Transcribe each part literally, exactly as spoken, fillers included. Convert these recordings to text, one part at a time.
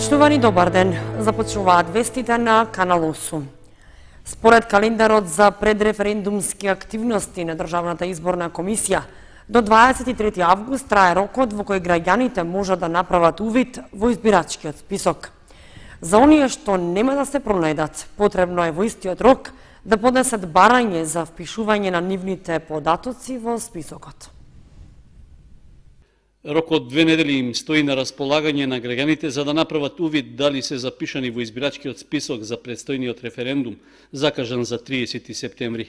Почитувани, добар ден. Започнуваат вестите на Канал осум. Според календарот за предреферендумски активности на Државната изборна комисија, до дваесет и трети август трае рокот во кој граѓаните можат да направат увид во избирачкиот список. За оние што нема да се пронајдат, потребно е во истиот рок да поднесат барање за впишување на нивните податоци во списокот. Рокот две недели им стои на располагање на граѓаните за да направат увид дали се запишани во избирачкиот список за предстојниот референдум, закажан за триесети септември.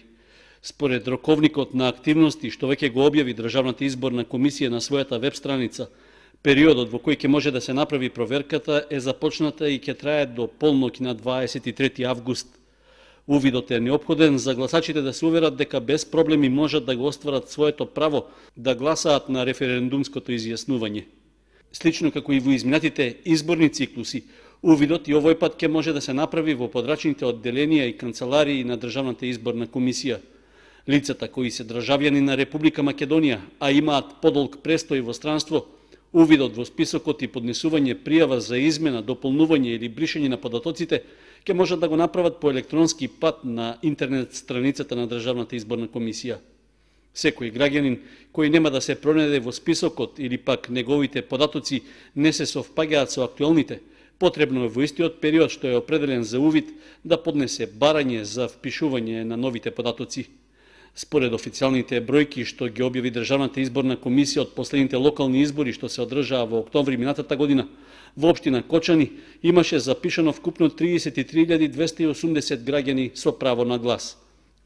Според роковникот на активности што веќе го објави Државната изборна комисија на својата веб страница, периодот во кој ќе може да се направи проверката е започната и ќе трае до полноќ на дваесет и трети август. Увидот е неопходен за гласачите да се уверат дека без проблеми можат да го остварат своето право да гласаат на референдумското изјаснување. Слично како и во изминатите изборни циклуси, увидот и овој пат ќе може да се направи во подрачните одделенија и канцеларии на Државната изборна комисија. Лицата кои се државјани на Република Македонија, а имаат подолг престој во странство, увидот во списокот и поднесување пријава за измена, дополнување или бришење на податоците ќе можат да го направат по електронски пат на интернет страницата на Државната изборна комисија. Секој граѓанин кој нема да се пронајде во списокот или пак неговите податоци не се совпаѓаат со актуелните, потребно е во истиот период што е определен за увид да поднесе барање за впишување на новите податоци. Според официјалните бројки што ги објави Државната изборна комисија од последните локални избори што се одржаа во октомври минатата година, во општина Кочани имаше запишано вкупно триесет и три илјади двесте и осумдесет граѓани со право на глас.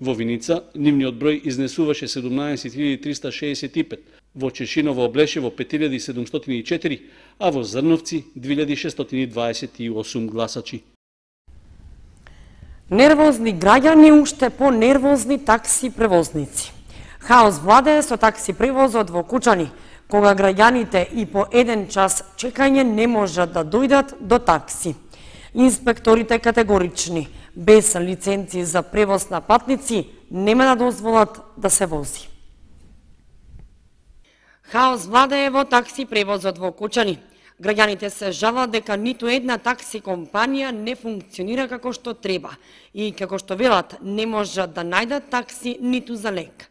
Во Виница нивниот број изнесуваше седумнаесет илјади триста шеесет и пет, во Чешиново Облешево пет илјади седумстотини и четири, а во Зрновци две илјади шестстотини дваесет и осум гласачи. Нервозни граѓани, уште по-нервозни такси превозници. Хаос владее со такси превозот во Кучани, кога граѓаните и по еден час чекање не можат да дојдат до такси. Инспекторите категорични, без лиценци за превоз на патници, нема да дозволат да се вози. Хаос владее во такси превозот во Кучани. Граѓаните се жалат дека ниту една такси компанија не функционира како што треба и како што велат не можат да најдат такси ниту за лек.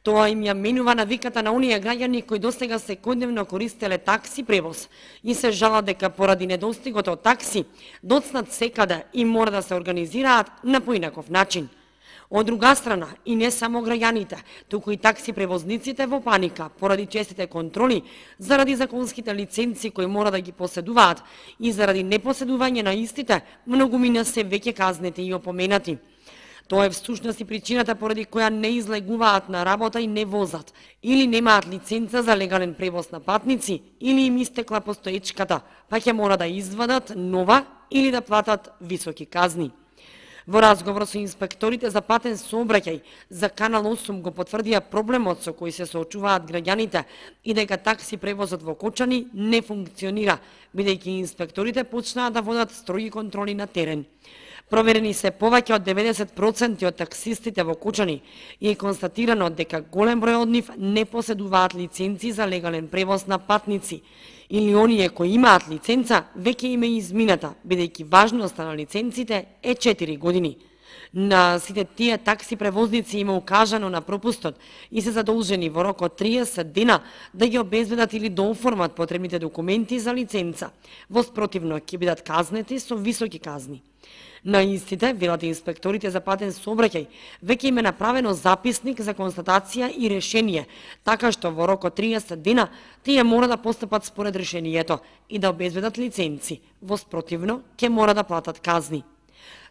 Тоа им ја менува навиката на оние граѓани кои досега секојдневно користеле такси превоз и се жалат дека поради недостигот од такси доцнат секаде и мора да се организираат на поинаков начин. Од друга страна, и не само граѓаните, туку и такси превозниците во паника поради честите контроли, заради законските лиценци кои мора да ги поседуваат и заради непоседување на истите, многумина се веќе казнети и опоменати. Тоа е всушност и причината поради која не излегуваат на работа и не возат, или немаат лиценца за легален превоз на патници, или им истекла постоечката, па ќе мора да извадат нова или да платат високи казни. Во разговор со инспекторите за патен сообраќај за Канал осум го потврдија проблемот со кој се соочуваат граѓаните и дека такси превозот во Кочани не функционира, бидејќи инспекторите почнаа да водат строги контроли на терен. Проверени се повеќе од деветдесет проценти од таксистите во Кочани и е констатирано дека голем број од нив не поседуваат лиценци за легален превоз на патници, или оние кои имаат лиценца веќе им е измината, бидејќи важноста на лиценците е четири години. На сите тие такси превозници има укажано на пропустот и се задолжени во рок од триесет дена да ги обезбедат или да оформат потребните документи за лиценца. Во спротивно ќе бидат казнети со високи казни. На истите, велат инспекторите за патен сообраќај, веќе им е направено записник за констатација и решение, така што во рок од триесет дена тие мора да постапат според решението и да обезбедат лиценци. Во спротивно, ќе мора да платат казни.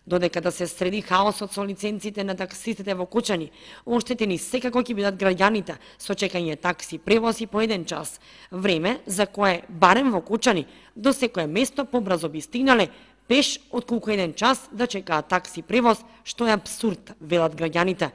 Додека да се среди хаосот со лиценците на таксистите во Кучани, оштетени секако ќе бидат граѓаните со чекање такси превози по еден час, време за кое барем во Кучани до секое место побрзо би стигнале пеш отколку еден час да чекаат такси превоз, што е апсурд, велат граѓаните.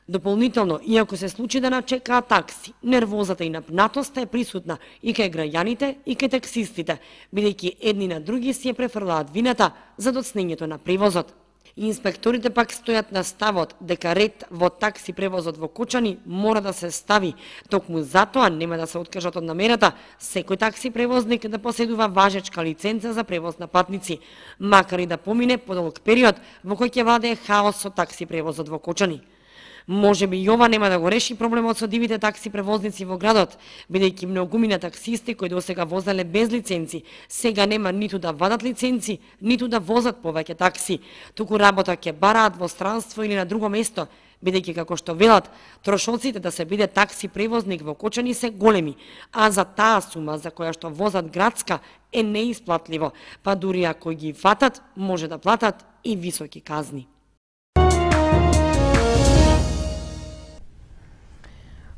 Дополнително, иако се случи да начекаат такси, нервозата и напнатоста е присутна и кај граѓаните и кај таксистите, бидејќи едни на други си ја префрлаат вината за доцнењето на превозот. Инспекторите пак стојат на ставот дека ред во такси превозот во Кочани мора да се стави. Токму затоа нема да се откажат од намерата секој такси превозник да поседува важечка лиценца за превоз на патници, макар и да помине подолг период во кој ќе владее хаос со такси превозот во Кочани. Може би и ова нема да го реши проблемот со дивите такси превозници во градот, бидејќи многумина таксисти кои досега возеле без лиценци, сега нема ниту да вадат лиценци, ниту да возат повеќе такси, туку работа ќе бараат во странство или на друго место, бидејќи како што велат, трошоците да се биде такси превозник во Кочани се големи, а за таа сума за која што возат градска е неисплатливо, па дури ако ги фатат, може да платат и високи казни.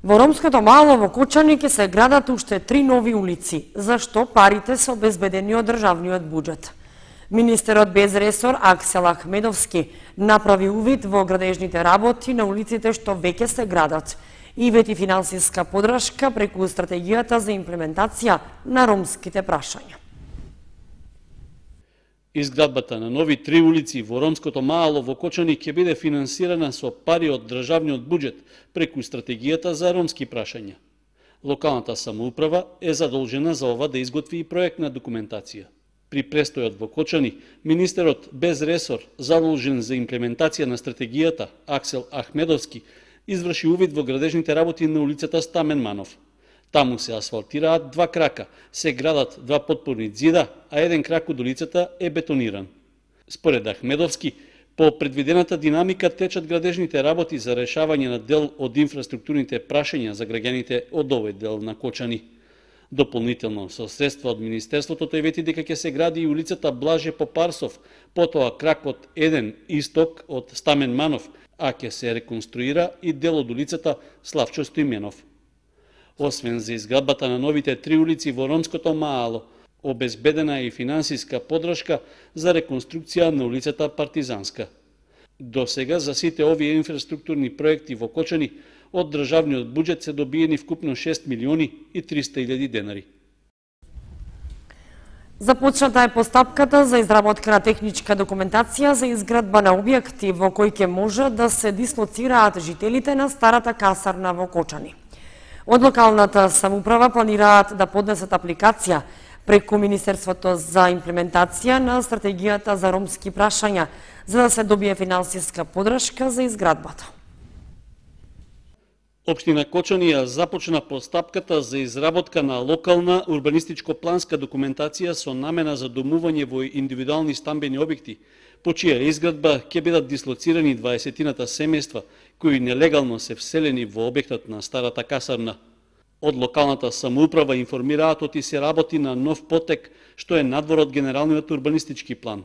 Во ромското мало во Кочани ќе се градат уште три нови улици, зашто парите се обезбедени од државниот буџет. Министерот без ресор Аксел Ахмедовски направи увид во градежните работи на улиците што веќе се градат и вети финансиска подршка преку стратегијата за имплементација на ромските прашања. Изградбата на нови три улици во ромското мало во Кочани ќе биде финансирана со пари од државниот буџет преку стратегијата за ромски прашања. Локалната самоуправа е задолжена за ова да изготви и проектна документација. При престојот во Кочани, министерот без ресор задолжен за имплементација на стратегијата Аксел Ахмедовски изврши увид во градежните работи на улицата Стамен Манов. Таму се асфалтираат два крака, се градат два потпорни ѕида, а еден крак од улицата е бетониран. Според Ахмедовски, по предвидената динамика течат градежните работи за решавање на дел од инфраструктурните прашања за граѓаните од овој дел на Кочани. Дополнително, со средства од Министерството, тој вети дека ќе се гради и улицата Блаже Попарсов, потоа кракот еден исток од Стамен Манов, а ќе се реконструира и дел од улицата Славчо Стоименов. Освен за изградбата на новите три улици во ромското мало, обезбедена е и финансиска подршка за реконструкција на улицата Партизанска. До сега за сите овие инфраструктурни проекти во Кочани од државниот буџет се добиени вкупно шест милиони и триста илјади денари. Започната е постапката за изработка на техничка документација за изградба на објекти во кои ќе може да се дислоцираат жителите на старата касарна во Кочани. Од локалната самоуправа планираат да поднесат апликација преку Министерството за имплементација на стратегијата за ромски прашања, за да се добие финансиска подршка за изградбата. Општина Кочани ја започна постапката за изработка на локална урбанистичко-планска документација со намена за домување во индивидуални стамбени објекти, по чија изградба ќе бидат дислоцирани дваесетината семејства кои нелегално се вселени во објектот на старата касарна. Од локалната самоуправа информираат оти се работи на нов потек што е надвор од генералниот урбанистички план.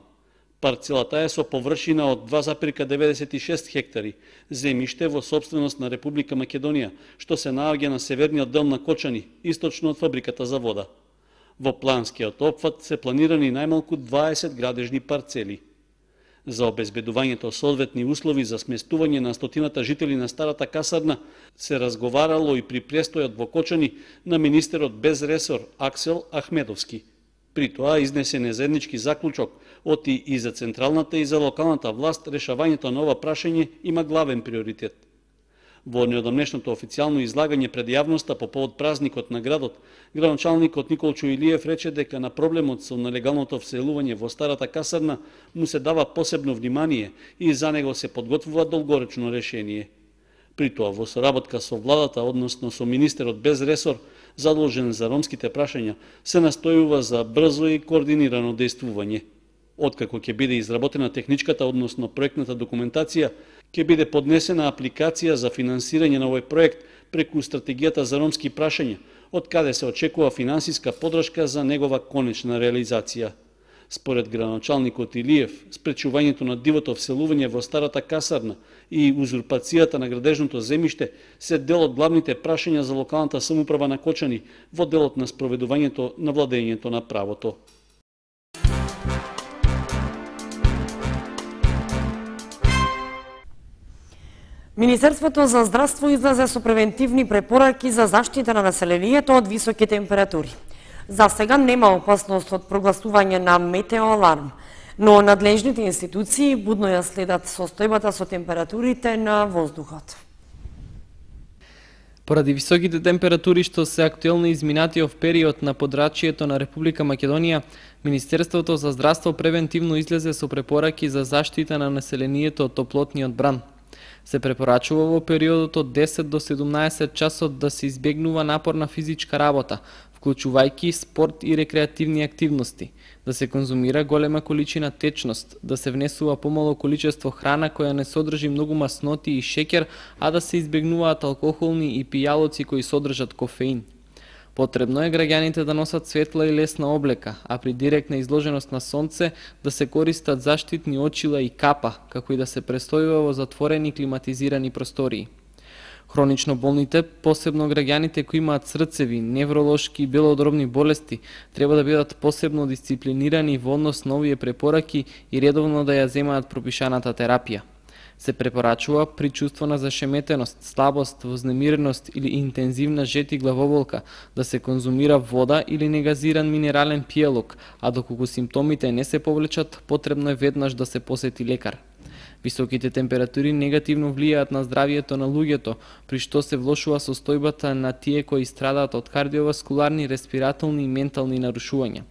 Парцелата е со површина од два запирка деветдесет и шест хектари, земјиште во сопственост на Република Македонија, што се наоѓа на северниот дел на Кочани, источно од фабриката за вода. Во планскиот опфат се планирани најмалку дваесет градежни парцели. За обезбедувањето соодветни услови за сместување на стотината жители на старата касарна се разговарало и при престојот во Кочани на министерот без ресор Аксел Ахмедовски. При тоа изнесен е заеднички заклучок оти и за централната и за локалната власт решавањето на ова прашање има главен приоритет. Во неодамнешното официјално излагање пред јавноста по повод празникот на градот, градоначалникот Николчо Илиев рече дека на проблемот со нелегалното вселување во старата касарна му се дава посебно внимание и за него се подготвува долгоречно решение. При тоа во соработка со владата, односно со министерот без ресор, задолжен за ромските прашања, се настојува за брзо и координирано действување. Откако ќе биде изработена техничката, односно проектната документација, ќе биде поднесена апликација за финансирање на овој проект преку стратегијата за ромски прашања, од каде се очекува финансиска подршка за негова конечна реализација. Според градоначалникот Илиев, спречувањето на дивото вселување во старата касарна и узурпацијата на градежното земјиште се дел од главните прашања за локалната самоуправа на Кочани во делот на спроведувањето на владењето на правото. Министерството за здравство излезе со превентивни препораки за заштита на населението од високи температури. За сега нема опасност од прогласување на метеоаларм. Но надлежните институции будно ја следат состојбата со температурите на воздухот. Поради високите температури што се актуелни изминатиот период на подрачјето на Република Македонија, Министерството за здравство превентивно излезе со препораки за заштита на населението од топлотниот бран. Се препорачува во периодот од десет до седумнаесет часот да се избегнува напорна физичка работа, вклучувајќи спорт и рекреативни активности, да се конзумира голема количина течност, да се внесува помало количество храна која не содржи многу масноти и шеќер, а да се избегнуваат алкохолни и пијалоци кои содржат кофеин. Потребно е граѓаните да носат светла и лесна облека, а при директна изложеност на сонце да се користат заштитни очила и капа, како и да се престојува во затворени климатизирани простории. Хронично болните, посебно граѓаните кои имаат срцеви, невролошки и белодробни болести, треба да бидат посебно дисциплинирани во однос на овие препораки и редовно да ја земаат пропишаната терапија. Се препорачува при чувство на зашеметеност, слабост, вознемиреност или интензивна жет и главоболка да се конзумира вода или негазиран минерален пијалок, а доколку симптомите не се повлечат, потребно е веднаш да се посети лекар. Високите температури негативно влијаат на здравието на луѓето, при што се влошува состојбата на тие кои страдаат од кардиоваскуларни, респиратолни и ментални нарушувања.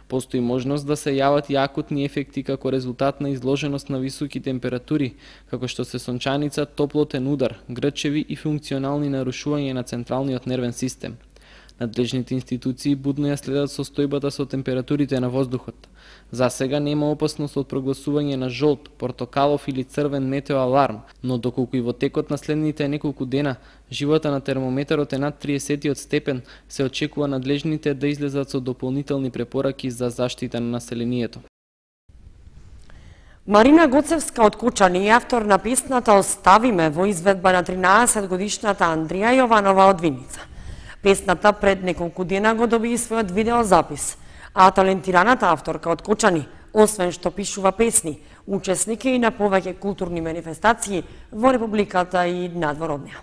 Постои можност да се јават и акутни ефекти како резултат на изложеност на високи температури, како што се сончаница, топлотен удар, грчеви и функционални нарушувања на централниот нервен систем. Надлежните институции будно ја следат состојбата со температурите на воздухот. За сега нема опасност од прогласување на жолт, портокалов или црвен метео аларм, но доколку и во текот на следните неколку дена живота на термометарот е над триесет степен, се очекува надлежните да излезат со дополнителни препораки за заштита на населението. Марина Гоцевска од Кучани е автор на песната "Оставиме" во изведба на тринаесет годишната Андрија Јованова од Виница. Песната пред неколку дена го доби и својот видеозапис, а талентираната авторка од Кучани, освен што пишува песни, учесник е и на повеќе културни манифестации во Републиката и надвор од неа.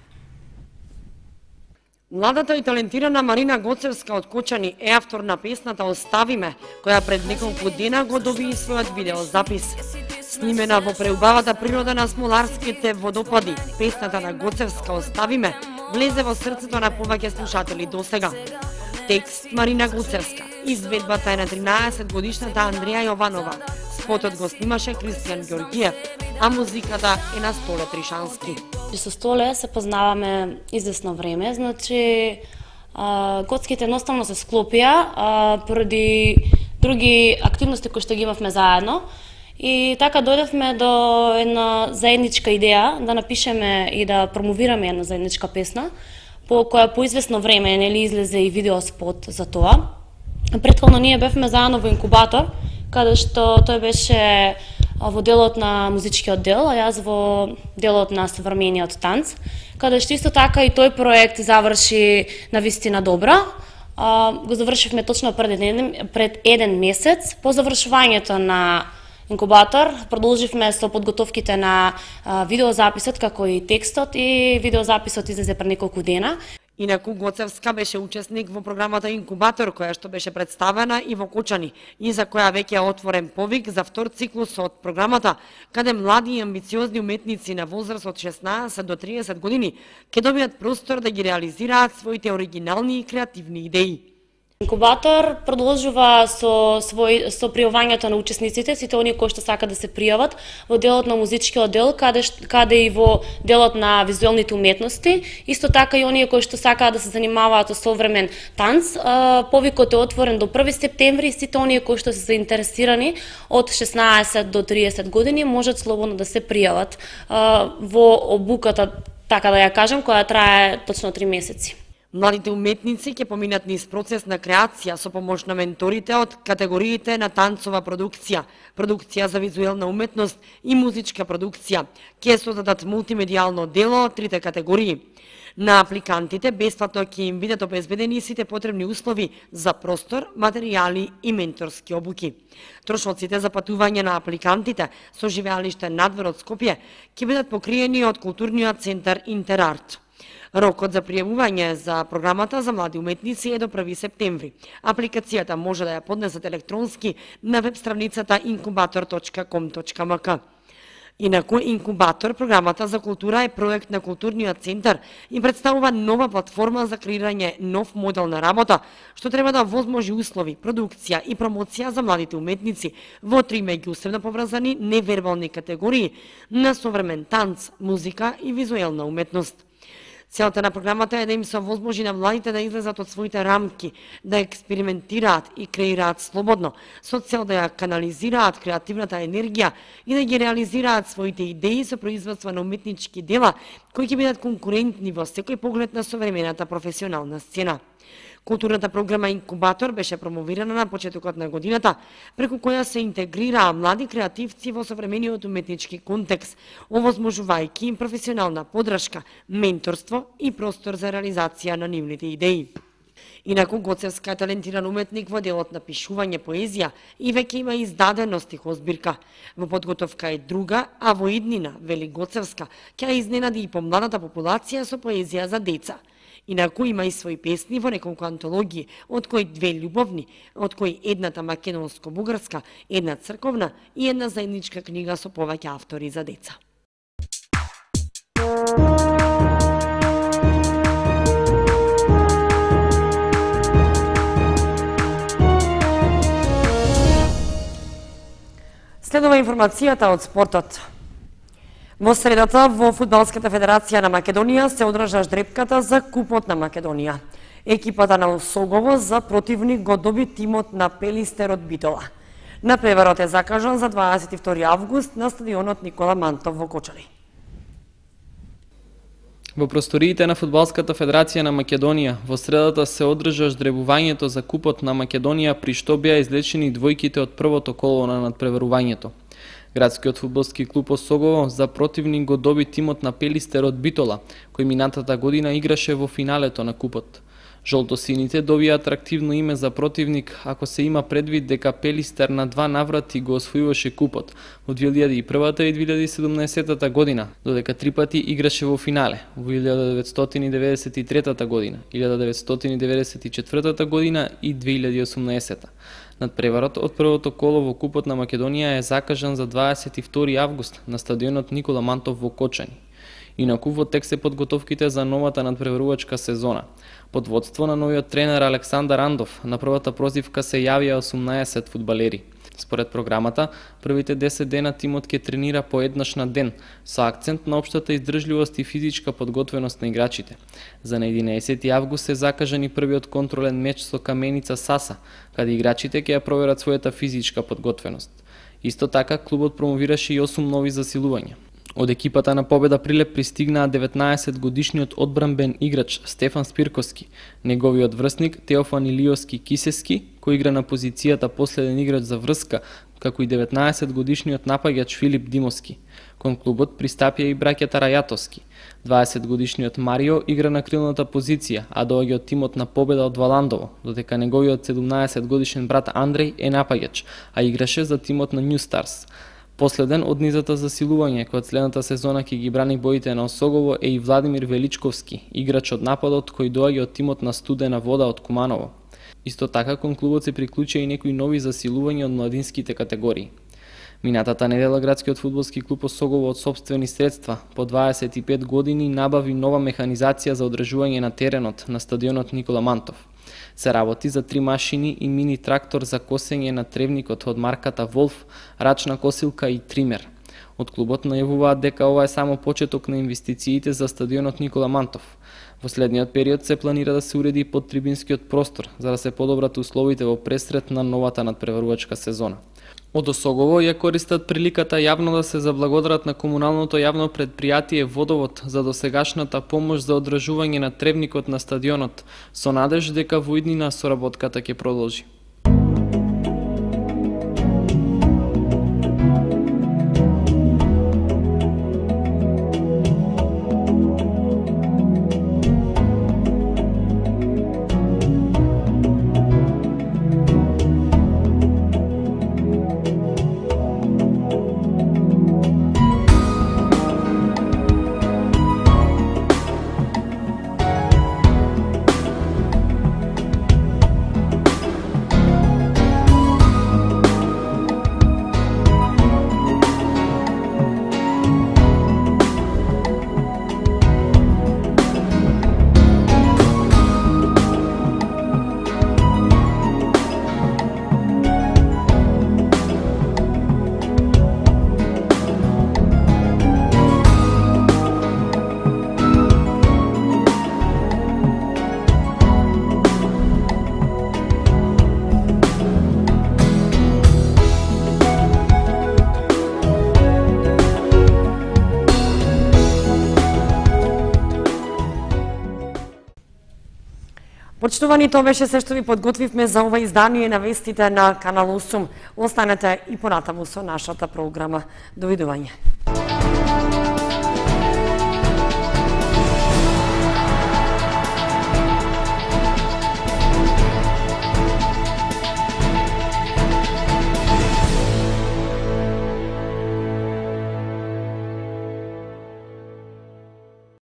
Младата и талентирана Марина Гоцевска од Кучани е автор на песната "Оставиме", која пред неколку дена го доби и својот видеозапис. Снимена во преубавата природа на Смоларските водопади, песната на Гоцевска "Оставиме" влезе во срцето на повеќе слушатели досега. Текст Марина Гоцевска, изведбата е на тринаесет годишната Андрија Јованова, спотот го снимаше Кристијан Ѓоргиев, а музиката е на Столе Тришански. Со Столе се познаваме известно време, значи а, коцките едноставно се склопија а, поради други активности кои што ги имавме заедно. И така дојдовме до една заедничка идеја да напишеме и да промовираме една заедничка песна, по која по известно време нели излезе и видеоспот за тоа. Претходно ние бевме заедно во инкубатор, каде што тој беше во делот на музичкиот дел, а јас во делот на современиот танц, каде што исто така и тој проект заврши на вистина добра. Го завршивме точно пред еден, пред еден месец. По завршувањето на инкубатор продолживме со подготовките на а, видеозаписот, како и текстот, и видеозаписот излезе пред неколку дена. Инаку Гоцевска беше учесник во програмата Инкубатор, која што беше представена и во Кучани, и за која веќе е отворен повик за втор циклус од програмата, каде млади и амбициозни уметници на возраст од шеснаесет до триесет години ќе добијат простор да ги реализираат своите оригинални и креативни идеи. Инкубатор продолжува со свој со пријавањето на учесниците, сите оние кои што сакаат да се пријават во делот на музичкиот дел, каде каде и во делот на визуелните уметности, исто така и оние кои што сакаат да се занимаваат со современ танц. Повикот е отворен до први септември, сите оние кои што се заинтересирани од шеснаесет до триесет години можат слободно да се пријават во обуката, така да ја кажам, која трае точно три месеци. Младите уметници ќе поминат низ процес на креација со помош на менторите од категориите на танцова продукција, продукција за визуелна уметност и музичка продукција. Ќе создадат мултимедијално дело од трите категории. На апликантите бесплатно ќе им бидат обезбедени сите потребни услови за простор, материјали и менторски обуки. Трошоците за патување на апликантите со живеалиште надвор од Скопје ќе бидат покриени од културниот центар Интерарт. Рокот за пријавување за програмата за млади уметници е до први септември. Апликацијата може да ја поднесат електронски на веб страницата инкубатор точка ком точка ем ка. Инаку Инкубатор, програмата за култура, е проект на Културниот центар и представува нова платформа за креирање нов модел на работа, што треба да возможи услови, продукција и промоција за младите уметници во три меѓусебно поврзани невербални категории на современ танц, музика и визуелна уметност. Целта на програмата е да им се овозможи на младите да излезат од своите рамки, да експериментираат и креираат слободно, со цел да ја канализираат креативната енергија и да ги реализираат своите идеи со производство на уметнички дела кои ќе бидат конкурентни во секој поглед на современата професионална сцена. Културната програма Инкубатор беше промовирана на почетокот на годината, преку која се интегрираа млади креативци во современиот уметнички контекст, овозможувајќи им професионална подршка, менторство и простор за реализација на нивните идеи. Инаку Гоцевска е талентиран уметник во делот на пишување поезија и веќе има издадено стихозбирка. Во подготовка е друга, а во иднина, вели Гоцевска, ќе изненади и помладата популација со поезија за деца. Инаку има и своји песни во неколку антологии, од кои две љубовни, од кои едната македонско-бугарска, една црковна и една заедничка книга со повеќе автори за деца. Следува информацијата од спортот. Во средата во Фудбалската федерација на Македонија се одржа ждрепката за Купот на Македонија. Екипата на Осогово за противник го доби тимот на Пелистер од Битола. Напреварот е закажан за дваесет и втори август на стадионот Никола Мантов во Кочани. Во просториите на Фудбалската федерација на Македонија во средата се одржа ждребувањето за Купот на Македонија, при што беа излечени двојките од првото коло на надпреварувањето. Градскиот фудбалски клуб Осогово за противник го доби тимот на Пелистер од Битола, кој минатата година играше во финалето на Купот. Жолтосините добија атрактивно име за противник ако се има предвид дека Пелистер на два наврати го освојуваше Купот во две илјади и прва и две илјади и седумнаесетта година, додека три пати играше во финале во илјада деветстотини деветдесет и трета година, илјада деветстотини деветдесет и четвртата година и две илјади и осумнаесетта. Надпреварот од првото коло во Купот на Македонија е закажан за дваесет и втори август на стадионот Никола Мантов во Кочани. Инаку во тек се подготовките за новата надпреварувачка сезона. Под водство на новиот тренер Александар Андов, на првата прозивка се јавија осумнаесет фудбалери. Според програмата, првите десет дена тимот ќе тренира по еднаш на ден, со акцент на општата издржливост и физичка подготвеност на играчите. За на единаесети август е закажан и првиот контролен меч со Каменица Саса, каде играчите ќе ја проверат својата физичка подготвеност. Исто така, клубот промовираше и осум нови засилувања. Од екипата на Победа Прилеп пристигнаа деветнаесет годишниот одбранбен играч Стефан Спирковски, неговиот врсник Теофан Илиоски Кисески, кој игра на позицијата последен играч за врска, како и деветнаесет годишниот напаѓач Филип Димовски. Кон клубот пристапија и браќата Рајатовски. дваесет годишниот Марио игра на крилната позиција, а доаѓа од тимот на Победа од Валандово, додека неговиот седумнаесет годишен брат Андреј е напаѓач, а играше за тимот на Нью Старс. Последен од низата засилување кој од следната сезона ќе ги брани боите на Осогово е и Владимир Величковски, играч од нападот кој доаѓа од тимот на Студена вода од Куманово. Исто така кон клубот се приклучија и некои нови засилувања од младинските категории. Минатата недела градскиот фудбалски клуб Осогово од сопствени средства по дваесет и пет години набави нова механизација за одржување на теренот на стадионот Никола Мантов. Се работи за три машини и мини трактор за косење на тревникот од марката Волф, рачна косилка и тример. Од клубот најавуваат дека ова е само почеток на инвестициите за стадионот Никола Мантов. Во следниот период се планира да се уреди подтрибинскиот простор за да се подобрат условите во пресред на новата надпреварувачка сезона. Од Осогово ја користат приликата јавно да се заблагодарат на комуналното јавно предпријатие Водовод за досегашната помош за одржување на тревникот на стадионот, со надеж дека во иднина соработката ќе продолжи. Почитувани, тоа беше се што ви подготвивме за ова издание на вестите на Канал осум. Останете и понатаму со нашата програма. Довидување.